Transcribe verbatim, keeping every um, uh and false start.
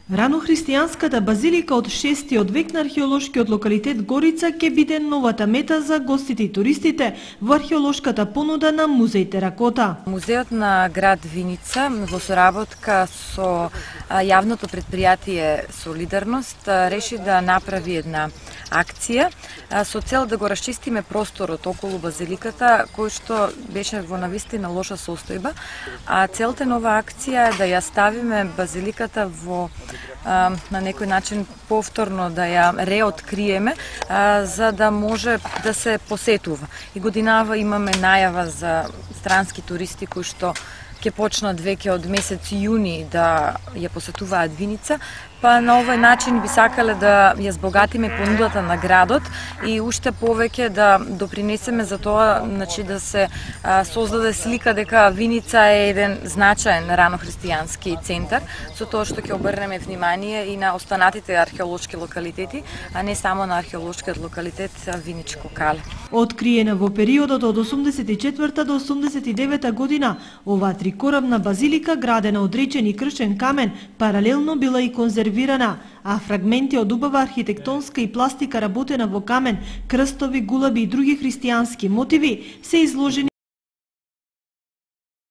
Ранохристијанската базилика од шестиот век на археолошкиот локалитет Горица ќе биде новата мета за гостите и туристите во археолошката понуда на Музеј Теракота. Музеот на град Виница во соработка со јавното предпријатие Солидарност реши да направи една акција со цел да го расчистиме просторот околу базиликата, кој што беше во навистина лоша состојба, а целта на оваа акција е да ја ставиме базиликата во на некој начин повторно да ја реоткриеме, за да може да се посетува. И годинава имаме најава за странски туристи кои што ќе почнат веќе од месец јуни да ја посетуваат Виница, па на овој начин би сакале да ја збогатиме понудата на градот и уште повеќе да допринесеме за тоа, значи да се а, создаде слика дека Виница е еден значаен ранохристијански центар, со тоа што ќе обрнеме внимание и на останатите археолошки локалитети, а не само на археолошкиот локалитет Виничко Кале. Откриена во периодот од осумдесет и четврта до осумдесет и девета година, оваа трикорабна базилика, градена од речен и кршен камен, паралелно била и конзервирана, а фрагменти од убава архитектонска и пластика работена во камен, крстови, гулаби и други христијански мотиви се изложени